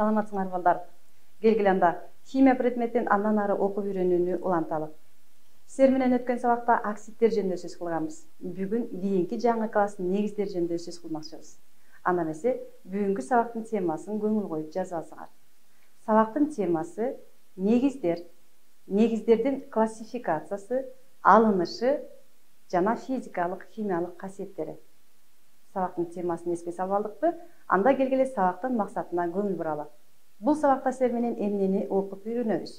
Саламатсыңар балдар. Келгиле анда химия предметин андан ары окуп үйрөнүүнү уланталы. Силер менен өткөн сабакта оксидтер жөнүндө сөз кылганбыз. Бүгүн кийинки жаңы класстын негиздери жөнүндө сөз кылмакчыбыз. Анда эмесе бүгүнкү сабактын темасын көңүл коюп жазып алсаңар. Сабактын темасы негиздер, негиздердин классификациясы, алынышы жана физикалык, химиялык касиеттери. Сабактын темасын эске салып алдыкпы? Анда келгиле сабактын максатына көңүл буралы. Бул сабакта силер менен эмнени окуп үйрөнөбүз?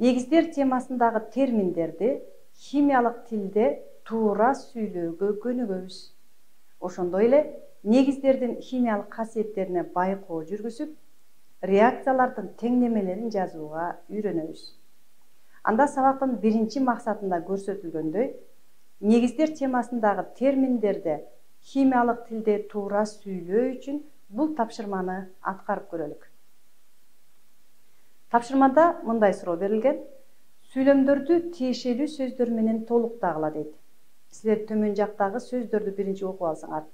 Негиздер темасындагы терминдерди химиялык тилде туура сүйлөөгө көнүгөбүз. Ошондой эле негиздердин химиялык касиеттерине байкоо жүргүзүп, реакциялардын теңдемелерин жазууга үйрөнөбүз. Анда сабактын биринчи максатында көрсөтүлгөндөй, негиздер темасындагы терминдерди химиялык тилде туура сүйлөө үчүн бул тапшырманы аткарып көрөлүк. Тапшырмада мындай суроо берилген: сүйлөмдөрдү тиешелүү сөздөр менен толуктагыла дейт. Силер төмөн жактагы сөздөрдү биринчи окуп алсаңар,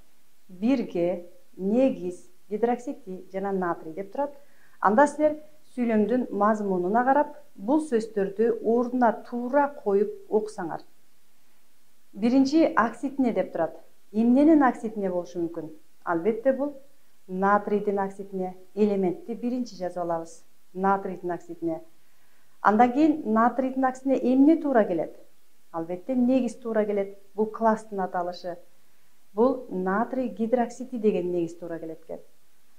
бирге, негиз, гидроксидий жана натрий деп турат. Анда силер сүйлөмдүн мазмунуна карап, бул сөздөрдү ордуна туура коюп окусаңар. Биринчи оксидине деп турат. Эмненин оксидине болушу мүмкүн? Албетте бул натрийдин оксидине. Элементти биринчи жазып алабыз. Натрийдин оксидине. Андан кийин натрийдин оксидине эмне туура келет? Албетте негиз туура келет. Бул класстын аталышы. Бул натрий гидроксидий деген негиз туура келет экен.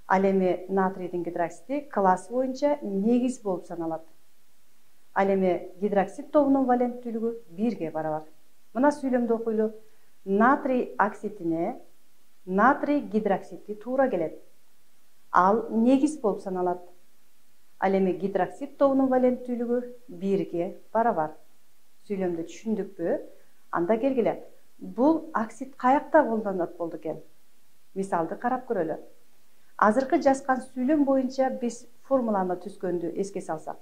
Ал эми натрийдин гидроксиди класс боюнча негиз болуп саналат. Ал эми гидроксид тобунун валенттүүлүгү 1-ге барабар. Мына сүйлөмдү окуйлу. Натрий оксидине натрий гидроксиди туура келет. Ал негиз болуп саналат. Ал эми гидроксид тобунун валенттүүлүгү 1-ге барабар. Сүйлөмдү түшүндүкпү? Анда келгиле. Бул оксид каякта колдонулат болду экен? Мисалды карап көрөлү. Азыркы жазган сүйлөм боюнча биз формуланы түзгөндү эске салсак.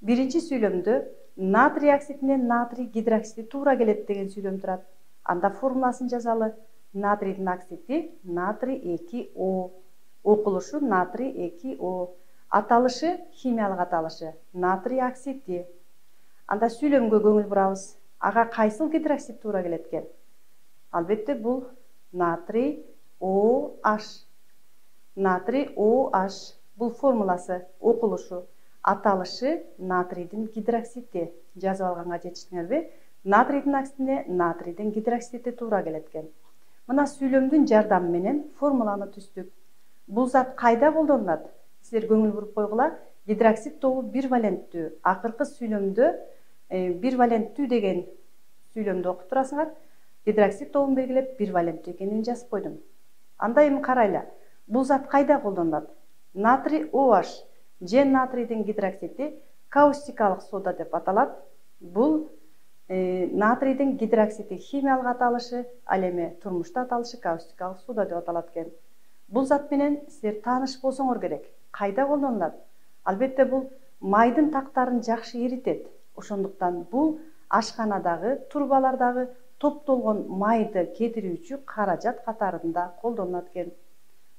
Биринчи сүйлөмдө натрий оксидине натрий гидроксиди туура келет деген сүйлөм турат. Анда формуласын жазалы. Натрийдин оксиди натрий 2O. Окулушу натрий 2O. Аталышы, химиялык аталышы натрий оксиди. Анда сүйлөмгө көңүл бурабыз. Ага кайсыл гидроксид туура келет экен? Албетте бул натрий OH. Натрий OH. Бул формуласы, окулушу, аталышы натрийдин гидроксиди. Жазып алганга жетиштиңерби? Натрийдин оксидине натрийдин гидроксиди туура келет экен. Мына сүйлөмдүн жардамы менен формуланы түздүк. Бул зат кайда колдонулат? Силер көңүл буруп койгула. Гидроксид тобу 1 валенттүү. Акыркы сүйлөмдө 1 валенттүү деген сүйлөмдү окуп турасыңар. Гидроксид тобун белгилеп 1 валенттүү экенин жазып койдум. Анда эми карайлы. Бул зат кайда колдонулат? Натрий OH же натрийдин гидроксиди каустикалык сода деп аталат. Бул натрийдин гидроксиди химиялык аталышы, ал эми турмушта аталышы каустикалык сода деп аталат экен. Бул зат менен силер тааныш болсоңор керек. Кайда колдонулат? Албетте бул майдын тактарын жакшы эритет. Ошондуктан бул ашканадагы, турбалардагы топтолгон майды кетирүүчү каражат катарында колдонулат экен.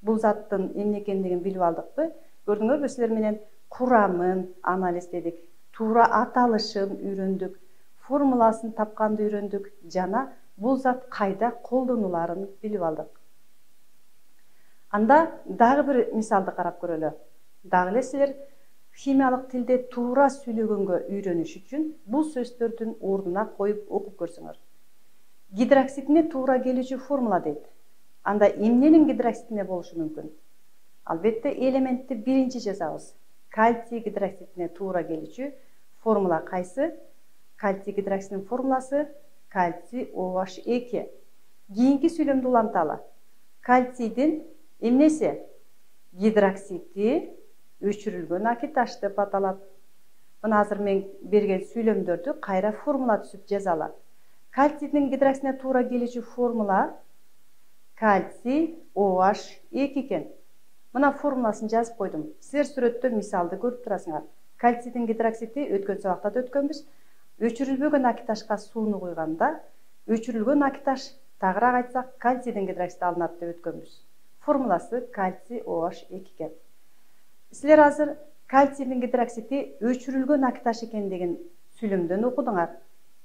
Бул заттын эмне экендигин билип алдыкпы? Көрдүңөрбү, силер менен курамын анализдедик, туура аталышын үйрөндүк, формуласын тапканды үйрөндүк жана бул зат кайда колдонуларын билип алдык. Анда дагы бир мисалды карап көрөлү. Дагы эле силер химиялык тилде туура сүйлөгөнгө үйрөнүш үчүн бул сөздөрдүн ордуна коюп окуп көрсөңөр. Гидроксидине туура келүүчү формула дейт. Анда эмненин гидроксидине болушу мүмкүн? Албетте элементти биринчи жазабыз. Кальций гидроксидине туура келүүчү формула кайсы? Кальций гидроксидинин формуласы кальций OH2. Кийинки сүйлөмдү уланталы. Кальцийдин эмнеси? Гидроксиди өчүрүлгөн акиташ деп аталат. Мына азыр мен берген сүйлөмдөрдү кайра формула түзүп жазалы. Кальцийдин гидроксидине туура келүүчү формула кальций OH2 экен. Мына формуласын жазып койдум. Силер сүрөттө мисалды көрүп турасыңар. Кальцийдин гидроксиди өткөн сабакта да өткөнбүз. Өчүрүлбөгөн акиташка сууну куйганда, өчүрүлгөн акиташ, тагыраак айтсак, кальцийдин гидроксиди алынат деп өткөнбүз. Формуласы кальций OH2 экен. Силер азыр кальцийдин гидроксиди өчүрүлгөн акташ экендигин сүйлөмдөн окудуңар.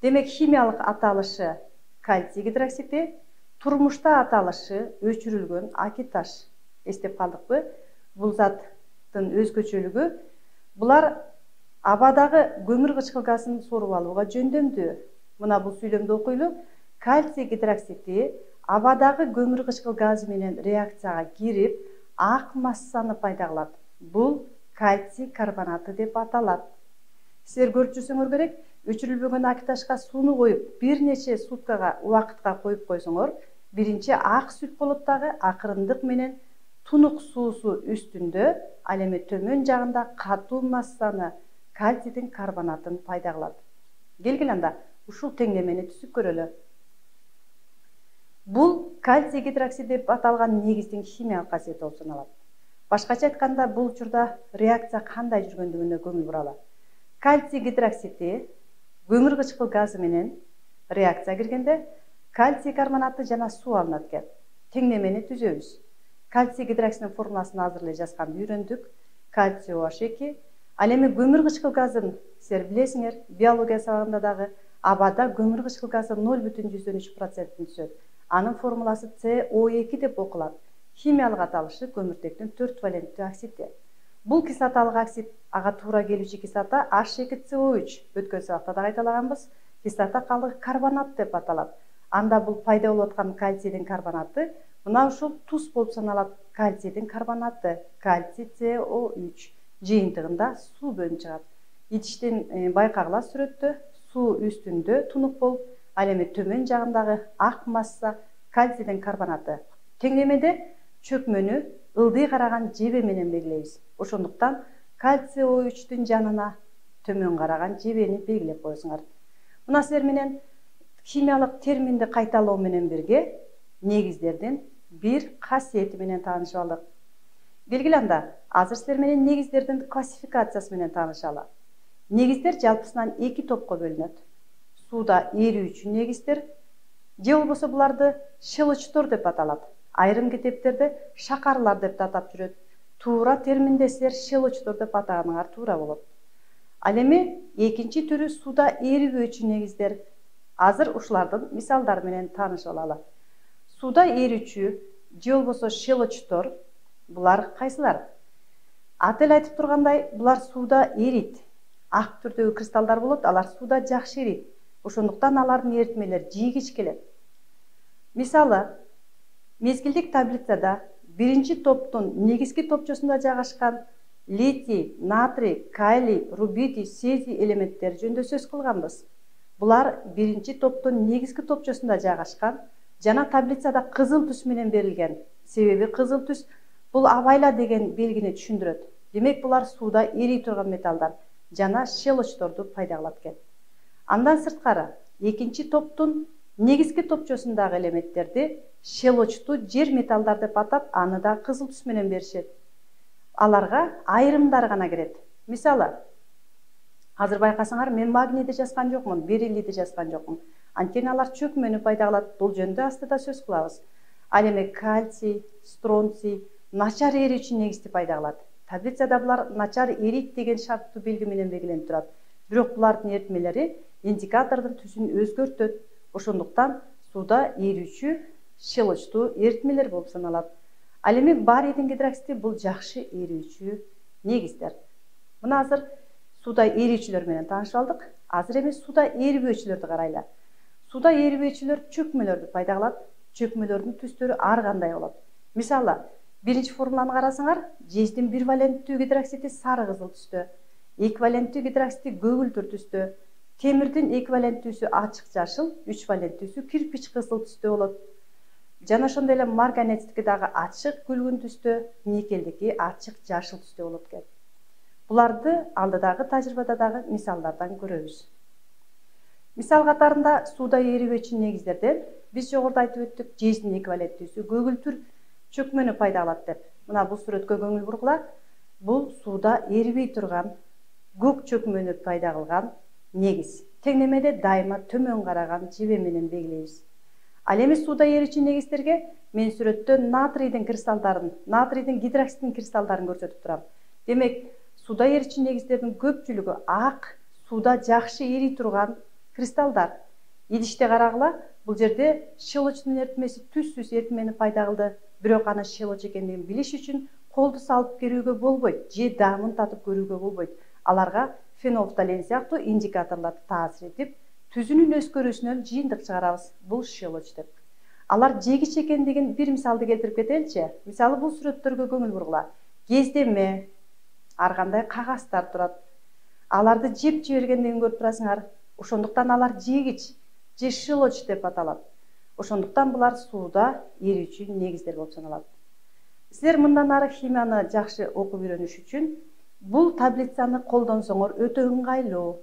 Демек химиялык аталышы кальций гидроксиди, турмушта аталышы өчүрүлгөн акиташ. Эстеп калдыкпы? Бул заттын өзгөчөлүгү булар абадагы көмүр кычкыл газын соруп алууга жөндөмдүү. Мына бул сүйлөмдү окуйлу. Кальций гидроксиди абадагы көмүр кычкыл газы менен реакцияга кирип, ак массаны пайда кылат. Бул кальций карбонаты деп аталат. Силер көрүп жүрсөңөр керек, өчүрүлбөгөн акиташка сууну коюп, бир нече суткага убакытка коюп койсоңор, биринчи ак сүт болот дагы, акырындык менен тунук суусу үстүндө, ал эми төмөн жагында катуу массаны, кальцийдин карбонатын пайда кылат. Келгиле анда ушул теңдемени түзүп көрөлү. Бул кальций гидроксиди деп аталган негиздин химиялык касиети болуп саналат. Башкача айтканда, бул учурда реакция кандай жүргөндүгүнө көңүл буралы. Кальций гидроксиди көмүр кычкыл газы менен реакция киргенде кальций карбонаты жана суу алынат экен. Теңдемени түзөбүз. Кальций гидроксидинин формуласын азыр эле жазганды үйрөндүк. Кальций OH2. Ал эми көмүр кычкыл газын силер билесиңер, биология сабагында дагы абада көмүр кычкыл газы 0,3% түзөт. Анын формуласы CO2 деп окулат. Химиялык аталышы көмүртектин 4 валенттүү оксиди. Бул кислоталык оксид ага туура келүүчү кислота H2CO3. Өткөн сабакта да кайталаганбыз. Кислота калдыгы карбонат деп аталат. Анда бул пайда болуп аткан кальцийдин карбонаты мына ушул туз болуп саналат. Кальцийдин карбонаты, кальций CO3 жыйынтыгында суу бөлүнүп чыгат. Ичиштен байкагыла сүрөттө суу үстүндө тунук болуп, ал эми төмөн жагындагы ак масса кальцийдин карбонаты. Теңдемеде чөкмөнү ылдый караган жебе менен белгилейбиз. Ошондуктан кальций OH-түн жанына төмөн караган жебени белгилеп коесуңар. Мына силер менен химиялык терминди кайталоо менен бирге негиздердин бир касиети менен таанышып алдык. Келгиле анда азыр силер менен негиздердин классификациясы менен таанышалы. Негиздер жалпысынан 2 топко бөлүнөт. Сууда эрүүчү негиздер, же болбосо буларды щелочтор деп аталат. Айрым китептерде шакарлар деп атап жүрөт. Туура терминде силер щелочтор деп атаганыңар туура болот. Ал эми экинчи түрү сууда эрибөөчү негиздер. Азыр ушулардын мисалдары менен таанышып алалы. Сууда эрүүчү же болбосо щелочтор булар кайсылар? Аты эле айтып тургандай, булар сууда эрийт. Ак түрдөгү кристаллдар болот, алар сууда жакшы эрийт. Ошондуктан алардын эритмелери жийгич келет. Мисалы, мезгилдик таблицада биринчи топтун негизги топчосунда жайгашкан литий, натрий, калий, рубидий, цезий элементтери жөнүндө сөз кылганбыз. Булар биринчи топтун негизги топчосунда жайгашкан жана таблицада кызыл түс менен берилген. Себеби кызыл түс бул абайла деген белгини түшүндүрөт. Демек булар сууда эрий турган металлдар жана щелочторду пайда кылат экен. Андан сырткары, экинчи топтун негизги топчосундагы элементтерди щелочтуу жер металлдар деп атап, аны да кызыл түс менен беришет. Аларга айрымдар гана кирет. Мисалы, азыр байкасаңар, мен магнийди жазган жокмун, бериллийди жазган жокмун. Анткени алар чөкмөнү пайда кылат. Бул жөнүндө астыда сөз кылабыз. Ал эми кальций, стронций начар эрүүчү негизди пайда кылат. Таблицада булар начар эрийт деген шарттуу белги менен белгиленип турат. Бирок булардын эритмелери индикатордун түсүн өзгөртөт. Ошондуктан сууда эрүүчү щелочтуу эритмелер болуп саналат. Ал эми барийдин гидроксиди бул жакшы эрүүчү негиздер. Мына азыр сууда эрүүчүлөр менен таанышып алдык. Азыр эми сууда эрибөөчүлөрдү карайлы. Сууда эрибөөчүлөр чөкмөлөрдү пайда кылат. Чөкмөлөрдүн түстөрү ар кандай болот. Мисалы, биринчи формуланы карасаңар, жездин 1 валенттүү гидроксиди сары кызыл түстө, 2 валенттүү гидроксиди көгүлтүр түстө, темирдин эквиваленттүүсү ачык жашыл, 3 валенттүүсү кирпич кызыл түстө болот. Жана ошондой эле марганецтики дагы ачык күлгүн түстө, никелдики ачык жашыл түстө болот экен. Буларды алдыдагы тажрыйбада дагы мисалдардан көрөбүз. Мисал катарында сууда эрибөөчү негиздерден биз жогоруда айтып өттүк, жездин эквиваленттүүсү көгүлтүр чөкмөнү пайда кылат деп. Мына бул сүрөткө көңүл бургула. Бул сууда эрибей турган көк чөкмөнү пайда кылган негиз. Теңдемеде дайыма төмөн караган жебе менен белгилейбиз. Ал эми сууда эрүүчү негиздерге мен сүрөттө натрийдин кристалдарын, натрийдин гидроксидин кристалдарын көрсөтүп турам. Демек, сууда эричи негиздердин көпчүлүгү ак, сууда жакшы эри турган кристаллдар. Идиште карагыла, бул жерде щелочтун эритмеси түссүз эритмени пайда кылды. Бирок аны щелочь экендигин билиш үчүн колду салып көрүүгө болбойт, же даамын татып көрүүгө болбойт. Аларга фенофталин сыяктуу индикаторлор таасир этип, түзүнүн өзгөрүүсүнөн жыйынтык чыгарабыз. Бул щелочь деп. Алар жегич экендигин бир мисалды келтирип кетеличи. Мисалы, бул сүрөттөргө көңүл бургула. Кездеме, ар кандай кагаздар турат. Аларды жеп жибергендигин көрүп турасыңар. Ошондуктан алар жегич же щелочь деп аталат. Ошондуктан булар сууда эрүүчү негиздер болуп саналат. Силер мындан ары химияны жакшы окуп үйрөнүш үчүн бул таблицаны колдонсоңор өтө ыңгайлуу.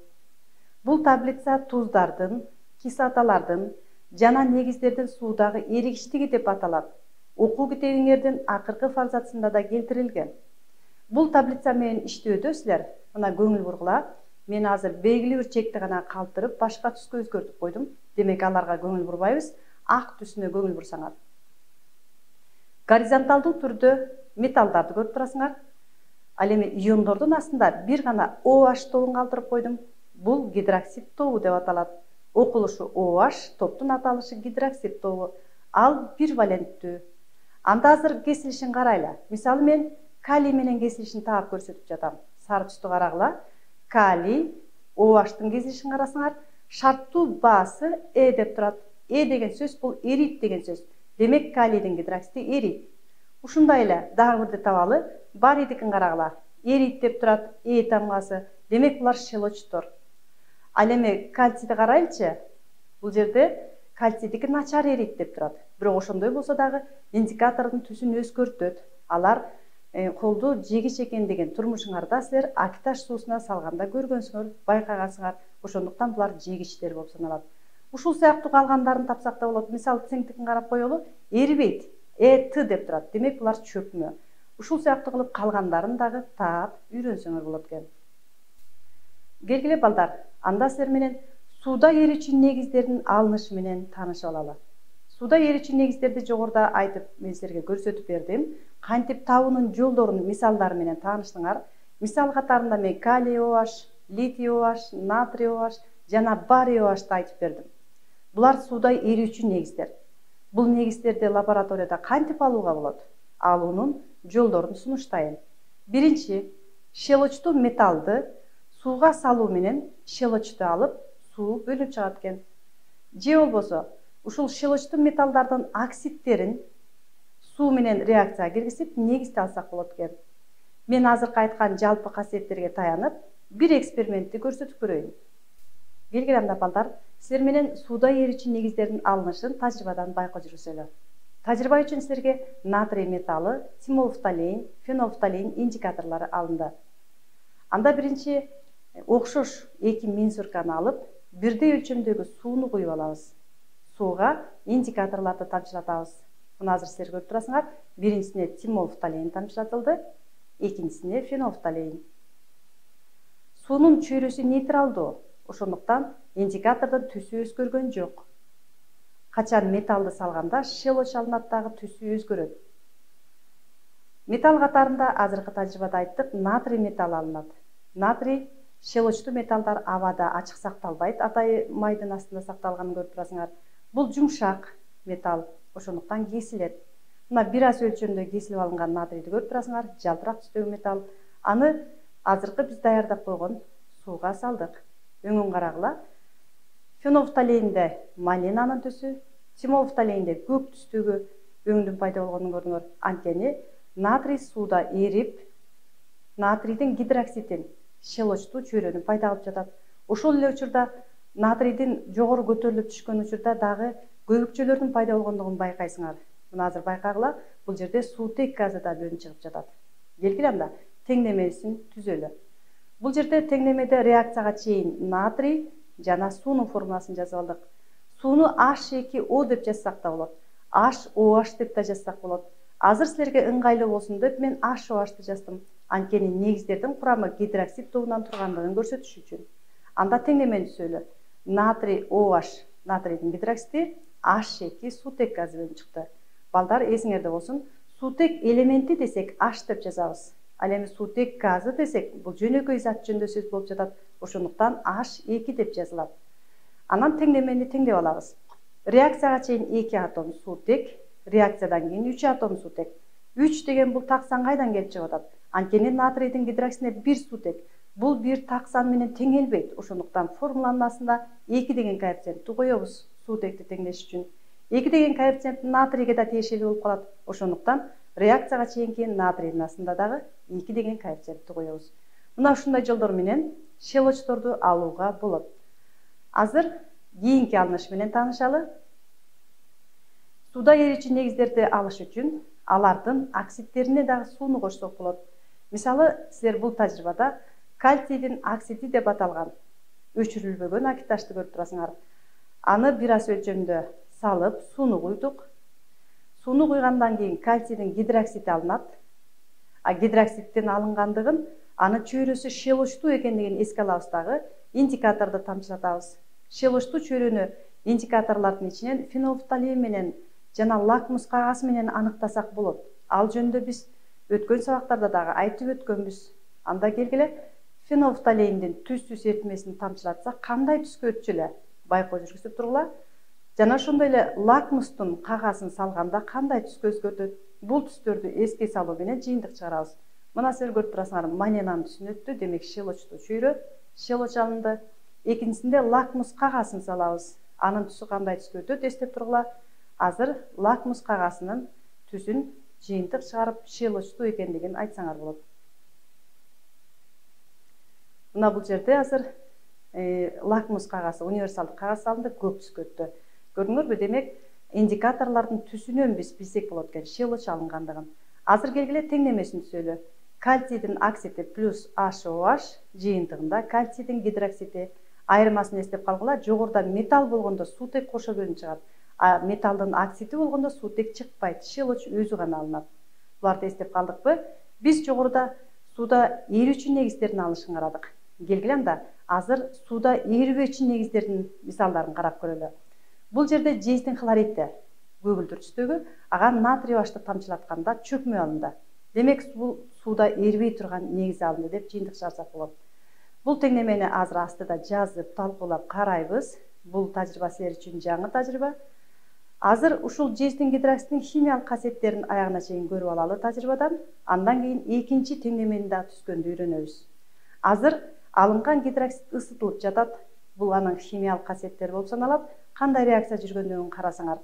Бул таблица туздардын, кислоталардын жана негиздердин суудагы эригиштиги деп аталат. Окуу китебиңердин акыркы фарзатсында да келтирилген. Бул таблица менен иштөөдө силер мына көңүл бургула. Мен азыр белгилүү бир чекти гана калтырып, башка түскө өзгөртүп койдум. Демек, аларга көңүл бурбайбыз. Ак түсүнө көңүл бурсаңар. Горизонталдуу түрдө металлдарды көрүп турасыңар. Ал эми иондордун астында бир гана OH тобун калтырып койдум. Бул гидроксид тобу деп аталат. Окулушу OH, топтун аталышы гидроксид тобу. Ал бир валенттүү. Анда азыр кесилишин карайлы. Мисалы, мен калий менен кесилишин таап көрсөтүп жатам. Сары түстү карагыла. Калий, OH-тын кесилишин карасаңар, шарттуу баасы деп турат. Деген сөз бул эрийт деген сөз. Демек, калийдин гидроксиди эрийт. Ушундай эле дагы бирди табалы. Барийдикин карагыла. Эрийт деп турат, тамгасы. Демек, булар щелочтор. Ал эми кальцийди карайлычы. Бул жерде кальцийдики начар эрийт деп турат. Бирок ошондой болсо дагы индикатордун түсүн өзгөртөт. Алар колду жегич экендигин турмушуңарда силер акиташ суусуна салганда көргөнсүңөр, байкагансыңар. Ошондуктан булар жегичтер болуп саналат. Ушул сыяктуу калгандарын тапсак да болот. Мисалы, цинктикин карап коелу, эрибейт. Т деп турат. Демек, булар чөкмө. Ушул сыяктуу кылып калгандарын дагы таап үйрөнсөңөр болот экен. Келгиле балдар, анда силер менен сууда эрүүчү негиздердин алынышы менен таанышып алалы. Сууда эрүүчү негиздерди жогоруда айтып, мен силерге көрсөтүп бердим. Кантип табуунун жолдорун мисалдары менен тааныштыңар. Мисал катарында мен калий OH, литий OH, натрий OH жана барий OH'ты айтып бердим. Булар сууда эрүүчү негиздер. Бул негиздерди лабораторияда кантип алууга болот? Алуунун жолдорун сунуштайын. Биринчи, щелочтуу металлды сууга салуу менен щелочту алып, суу бөлүп чыгат экен. Же болбосо, ушул щелочтуу металлдардын оксидтерин суу менен реакцияга киргизип, негизди алсак болот экен. Мен азыркы айткан жалпы касиеттерге таянып, бир экспериментти көрсөтүп көрөйүн. Келгиле анда балдар, силер менен сууда эрүүчү негиздердин алынышын тажрыйбадан байкоо жүргүзөлү. Тажрыйба үчүн силерге натрий металлы, тимолфталин, фенофталин индикаторлору алынды. Анда биринчи окшош эки мензурканы алып, бирдей өлчөмдөгү сууну куюп алабыз. Сууга индикаторлорду тамчылатабыз. Мына азыр силер көрүп турасыңар, биринчисине тимолфталин тамчылатылды, экинчисине фенофталин. Суунун чөйрөсү нейтралдуу, ошондуктан индикатордун түсү өзгөргөн жок. Качан металлды салганда щелочь алынат дагы түсү өзгөрөт. Металл катарында азыркы тажрыйбада айттык, натрий металлы алынат. Натрий щелочтуу металлдар абада ачык сакталбайт, атайы майдын астында сакталганын көрүп турасыңар. Бул жумшак металл, ошондуктан кесилет. Мына бир аз өлчөмдө кесилип алынган натрийди көрүп турасыңар, жалтырак түстөгү металл. Аны азыркы биз даярдап койгон сууга салдык. Өңүн карагыла. Фенофталинде малинанын түсү, тимолфталинде көк түстөгү өңдүн пайда болгонун көрдүңөр. Анткени натрий сууда эрип, натрийдин гидроксидин щелочтуу чөйрөнү пайда кылып жатат. Ошол эле учурда натрийдин жогору көтөрүлүп түшкөн учурда дагы көбүкчөлөрдүн пайда болгондугун байкайсыңар. Мына азыр байкагыла, бул жерде суутек газы да бөлүнүп чыгып жатат. Келгиле анда теңдемесин түзөлү. Бул жерде теңдемеде реакцияга чейин натрий жана суунун формуласын жазып алдык. Сууну H2O деп жазсак да болот. HOH деп да жазсак болот. Азыр силерге ыңгайлуу болсун деп мен HOH'ты жаздым. Анткени негиздердин курамы гидроксид тобунан тургандыгын көрсөтүш үчүн. Анда теңдемени түзөлү. Натрий OH, натрийдин гидроксиди, H2 суутек газы бөлүнүп чыкты. Балдар, эсиңерде болсун, суутек элементи десек H деп жазабыз. Ал эми суутек газы десек, бул жөнөкөй зат жөнүндө сөз болуп жатат. Ошондуктан H2 деп жазылат. Анан теңдемени теңдеп алабыз. Реакцияга чейин 2 атом суутек, реакциядан кийин 3 атом суутек. 3 деген бул так сан кайдан келип чыгып атат? Анткени натрийдин гидроксидине 1 суутек. Бул 1 так сан менен теңелбейт. Ошондуктан формуланын астында 2 деген коэффициентти коебуз суутекти теңдеш үчүн. 2 деген коэффициент натрийге да тиешелүү болуп калат. Ошондуктан реакцияга чейинки натрийдин астында дагы 2 деген коэффициентти коебуз. Мына ушундай жолдор менен щелочторду алууга болот. Азыр кийинки алыныш менен таанышалы. Сууда эрүүчү негиздерди алыш үчүн алардын оксидтерине дагы сууну кошсок болот. Мисалы, силер бул тажрыйбада кальцийдин оксиди деп аталган өчүрүлбөгөн акиташты көрүп турасыңар. Аны бир аз өлчөмдө салып, сууну куйдук. Сууну куйгандан кийин кальцийдин гидроксиди алынат. Гидроксидтин алынгандыгын, аны чөйрөсү щелочтуу экендигин эске алабыз дагы, индикаторду тамчылатабыз. Щелочтуу чөйрөнү индикаторлордун ичинен фенофталин менен жана лакмус кагазы менен аныктасак болот. Ал жөнүндө биз өткөн сабактарда дагы айтып өткөнбүз. Анда келгиле фенофталиндин түз эритмесин тамчылатсак кандай түскө өтчү эле байкоо жүргүзүп тургула. Жана ошондой эле лакмустун кагазын салганда кандай түскө өзгөртөт? Бул түстөрдү эске салуу менен жыйынтык чыгарабыз. Мына силер көрүп турасыңар, маненанын түсүн өттү, демек щелочтуу чөйрө, щелоч алынды. Экинчисинде лакмус кагазын салабыз. Анын түсү кандай түскө өтөт эстеп тургула. Азыр лакмус кагазынын түсүн жыйынтык чыгарып, щелочтуу экендигин айтсаңар болот. Мына бул жерде азыр лакмус кагазы, универсалдык кагаз салынды, көк түскө өттү. Көрдүңөрбү? Демек, индикаторлордун түсүнөн биз билсек болот экен щелоч алынгандыгын. Азыр келгиле теңдемесин түзөлү. Кальцийдин оксиди плюс HOH жыйынтыгында кальцийдин гидроксиди айырмасын эстеп калгыла. Жогоруда металл болгондо суутек кошо бөлүнүп чыгат. Металдын оксиди болгондо суутек чыкпайт, щелоч өзү гана алынат. Буларды эстеп калдыкпы? Биз жогоруда сууда эрүүчү негиздерин алышын карадык. Келгиле анда азыр сууда эрибөөчү негиздердин мисалдарын карап көрөлү. Бул жерде жездин хлоридти көгүлдүр түстөгү, ага натрий башты тамчылатканда чөкмө алынды. Демек, бул сууда эрибей турган негиз алынды деп жыйынтык чыгарсак болот. Бул теңдемени азыр астыда жазып, талкуулап карайбыз. Бул тажрыйба силер үчүн жаңы тажрыйба. Азыр ушул жездин гидроксидин химиялык касиеттерин аягына чейин көрүп алалы тажрыйбадан. Андан кийин экинчи теңдемени да түзгөндү үйрөнөбүз. Азыр алынган гидроксид ысытылып жатат. Бул анын химиялык касиеттери болуп саналат. Кандай реакция жүргөндүгүн карасаңар.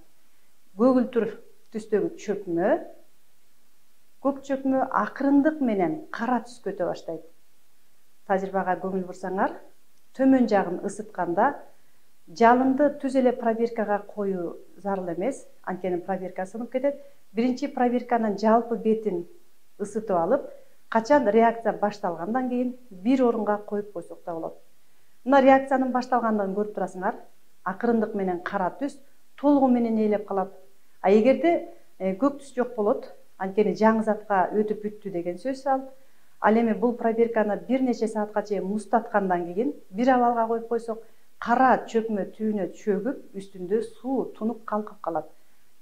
Көгүлтүр түстөгү чөкмө, көк чөкмө акырындык менен кара түскө өтө баштайт. Тажрыйбага көңүл бурсаңар, төмөн жагын ысытканда жалынды түз эле пробиркага коюу зарыл эмес, анткени пробирка сынып кетет. Биринчи пробирканын жалпы бетин ысытып алып, качан реакция башталгандан кийин бир орунга коюп койсок да болот. Мына реакциянын башталгандыгын көрүп турасыңар. Акырындык менен кара түс толугу менен ээлеп калат. Эгерде көк түс жок болот, анткени жаңы затка өтүп бүттү деген сөз ал. Ал эми бул пробирканы бир нече саатка чейин муздаткандан кийин бир абалга коюп койсок, кара чөкмө түбүнө чөгүп, үстүндө суу тунуп калкып калат.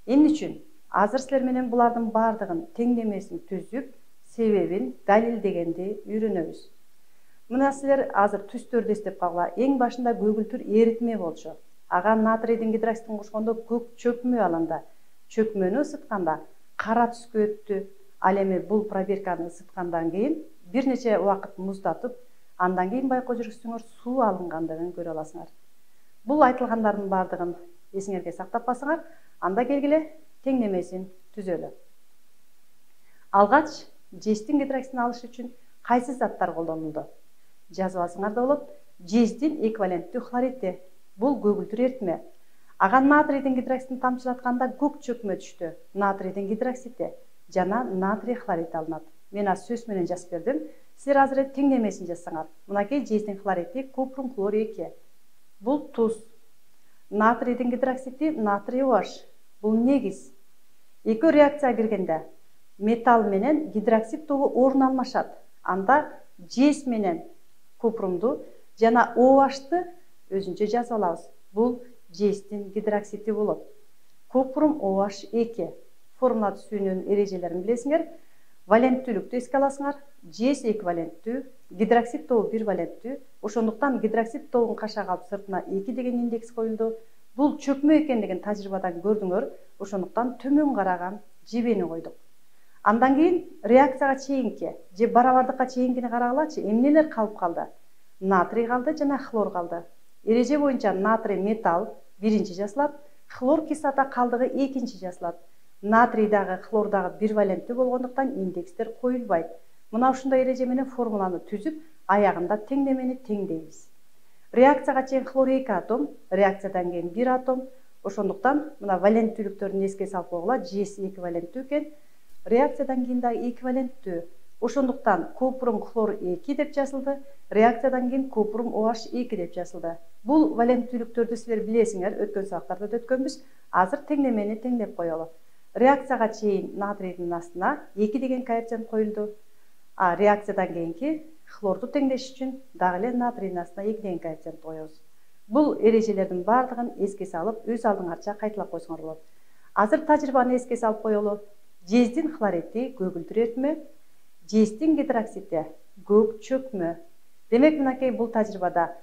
Эмне үчүн? Азыр силер менен булардын бардыгын теңдемесин түзүп, себебин далилдегенди үйрөнөбүз. Мына силер азыр түстөрдү эстеп калгыла. Эң башында көгүлтүр эритме болчу. Ага натрийдин гидроксидин кошкондо көк чөкмө алынды. Чөкмөнү ысытканда кара түскө өттү. Ал эми бул пробирканы ысыткандан кийин бир нече убакыт муздатып, андан кийин байкоо жүргүзсөңөр суу алынгандыгын көрө аласыңар. Бул айтылгандардын бардыгын эсиңерге сактап калсаңар, анда келгиле теңдемесин түзөлү. Алгач жездин гидроксидин алыш үчүн кайсы заттар колдонулду? Жазып алсаңар да болот. Жездин эквиваленттүү хлоридти. Бул көгүлтүр эритме. Ага натрийдин гидроксидин тамчылатканда көк чөкмө түштү. Натрийдин гидроксиди жана натрий хлорид алынат. Мен аз сөз менен жазып бердим. Силер азыр теңдемесин жазсаңар. Мынакей жездин хлоридти купрум хлор 2. Бул туз. Натрийдин гидроксиди натрий OH. Бул негиз. Экөө реакцияга киргенде металл менен гидроксид тобу орун алмашат. Анда жез менен купрумду жана OH-ты өзүнчө жазып алабыз. Бул жездин гидроксиди болот. Купрум OH2. Формула түзүүнүн эрежелерин билесиңер. Валенттүүлүктү эске аласыңар. JS эквиваленттүү, гидроксид тобу 1 валенттүү. Ошондуктан гидроксид тобун кашак алып сыртына 2 деген индекс коюлду. Бул чөкмө экендигин тажрыйбадан көрдүңөр. Ошондуктан төмөн караган жебени койдук. Андан кийин реакцияга чейинки же барабардыкка чейинкини карагылачы. Эмнелер калып калды? Натрий калды жана хлор калды. Эреже боюнча натрий металл биринчи жасалат, хлор кислота калдыгы экинчи жасалат. Натрий дагы хлор дагы 1 валенттүү болгондуктан индекстер коюлбайт. Мына ушундай эреже менен формуланы түзүп, аягында теңдемени теңдейбиз. Реакцияга чейин хлор 2 атом, реакциядан кийин 1 атом. Ошондуктан мына валенттүүлүктөрүн эске салып койгула. JS эквиваленттүү экен. Реакциядан кийин дагы эквиваленттүү. Ошондуктан купрум хлор 2 деп жазылды. Реакциядан кийин купрум OH2 деп жазылды. Бул валенттүүлүктөрдү силер билесиңер, өткөн сабактарда да өткөнбүз. Азыр теңдемени теңдеп коелу. Реакцияга чейин натрийдин астына 2 деген коэффициент коюлду. А реакциядан кийинки хлорду теңдеш үчүн дагы эле натрийдин астына 2 деген коэффициент коебуз. Бул эрежелердин баардыгын эске салып, өз алдыңарча кайталап койсоңор болот. Азыр тажрыйбаны эске салып коелу. JS'дин хлориди көгүлдүр эритме, JS'дин гидроксиди көк чөкмө. Демек, мынакей бул тажрыйбада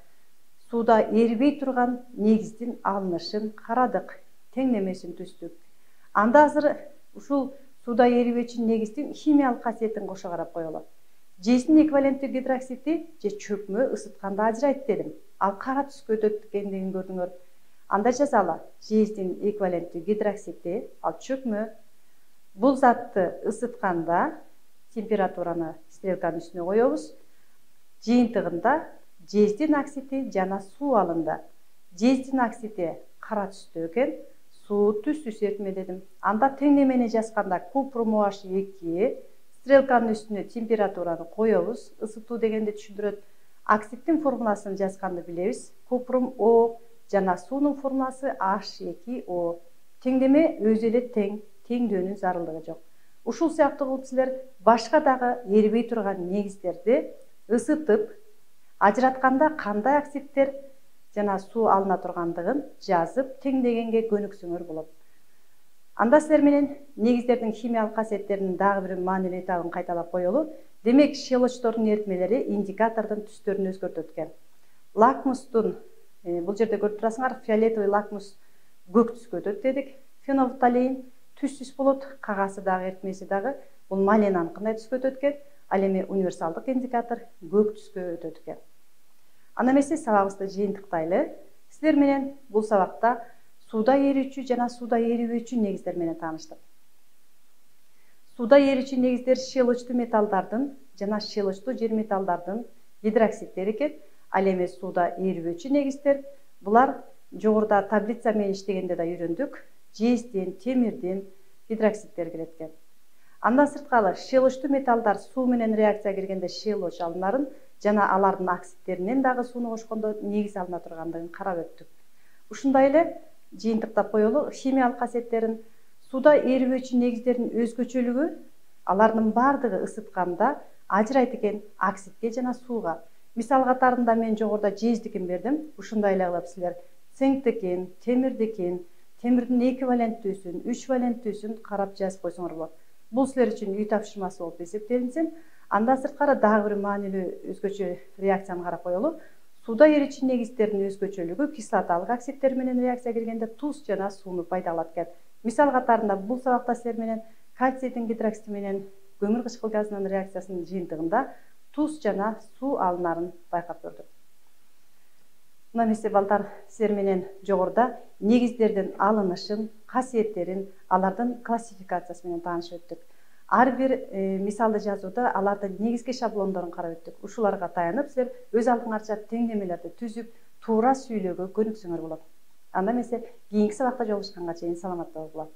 сууда эрибей турган негиздин алынышын карадык, теңдемесин түздүк. Анда азыр ушул сууда эрибечү негиздин химиялык касиетин кошо карап коелу. JS'дин эквиваленттүү гидроксиди же чөкмө ысытканда ажырайт дедим. Ал кара түскө өтөт экендигин көрдүңөр. Анда жазалы. JS'дин эквиваленттүү гидроксиди, ал чөкмө. Бул затты ысытканда температураны стрелканын үстүнө коебуз. Жыйынтыгында JS'дин оксиди жана суу алынды. JS'дин оксиди кара түстө экен, суу түстүс эритме дедим. Анда теңдемени жазганда купрум OH2 стрелканын үстүнө температураны коебуз. Ысытуу дегенди түшүндүрөт. Оксиддин формуласын жазганды билебиз. Купрум O жана суунун формуласы H2O. Теңдеме өзү эле тең, теңдөөнүн зарылдыгы жок. Ушул сыяктуу кылып силер башка дагы эрибей турган негиздерди ысытып, ажыратканда кандай оксиддер жана суу алына тургандыгын жазып, теңдегенге көнүксөңөр болот. Анда силер менен негиздердин химиялык касиеттеринин дагы бир маанилүү этабын кайталап коелу. Демек, щелочтордун эритмелери индикатордун түстөрүн өзгөртөт экен. Лакмустун, бул жерде көрүп турасыңар, фиолетовый лакмус көк түскө өтөт дедик. Фенолфталеин түстүс болот, кагасы дагы эритмеси дагы бул маленанын кандай түскө өтөт экен, ал эми универсалдык индикатор көк түскө өтөт экен. Анда эмесе сабагыбызды жыйынтыктайлы. Силер менен бул сабакта сууда эрүүчү жана сууда эрибөөчү негиздер менен тааныштык. Сууда эрүүчү негиздер щелочтуу металлдардын жана щелочтуу жер металлдардын гидроксиддери экен. Ал эми сууда эрибөөчү негиздер булар жогоруда таблица менен иштегенде да үйрөндүк. JS'дин, темирдин гидроксиддери кирет экен. Андан сырткары щелочтуу металлдар суу менен реакцияга киргенде щелоч алынарын жана алардын оксиддеринен дагы сууну кошкондо негиз алына тургандыгын карап өттүк. Ушундай эле жыйынтыктап коелу. Химиялык касиеттерин сууда эрибөөчү негиздердин өзгөчөлүгү алардын баардыгы ысытканда ажырайт экен оксидке жана сууга. Мисал катарында мен жогоруда JS'дикин бердим. Ушундай эле кылып силер цинктикин, темирдикин, темирдин эквиваленттүүсүн, 3 валенттүүсүн карап жазып койсоңор болот. Бул силер үчүн үй тапшырмасы болуп эсептелинсин. Андан сырткары дагы бир маанилүү өзгөчө реакцияны карап коелу. Сууда эричи негиздердин өзгөчөлүгү кислоталык оксиддер менен реакцияга киргенде туз жана сууну пайдаланат экен. Мисал катарында бул сабакта силер менен кальцийдин гидроксиди менен көмүр кычкыл газынын реакциясынын жыйынтыгында туз жана суу алынарын байкап көрдүк. Мына эмесе балдар, силер менен жогоруда негиздердин алынышын, касиеттерин, алардын классификациясы менен таанышып өттүк. Ар бир мисалды жазууда алардын негизги шаблондорун карап өттүк. Ушуларга таянып силер өз алдыңарча теңдемелерди түзүп, туура сүйлөөгө көнүксөңөр болот. Анда эмесе кийинки сабакта жолугушканга чейин саламатта болгула.